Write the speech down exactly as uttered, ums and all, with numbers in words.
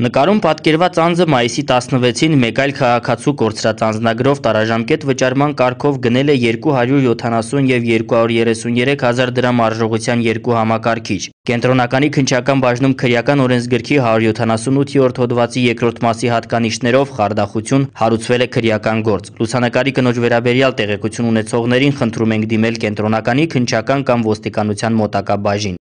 Նկարում պատկերված անձը մայիսի տասնվեցին մեկ այլ քաղաքացու կորցրած անձնագրով տարաժամկետ վճարման կարգով գնել է երկու հարյուր յոթանասուն և երկու հարյուր երեսունյերեք հազար դրամ արժողության երկու համակարգիչ։ Կենտրոնականի քննչական բաժնում քրեական օրենսգրքի հարյուր յոթանասունութերորդ հոդվածի երկրորդ մասի հատկանիշներով խարդախություն հարուցվել է քրեական գործ։ Լուսանկարի կնոջ վերաբերյալ տեղեկություն ունեցողներին խնդրում ենք դիմել կենտրոնականի քննչական կամ ոստիկանության մոտակա բաժին։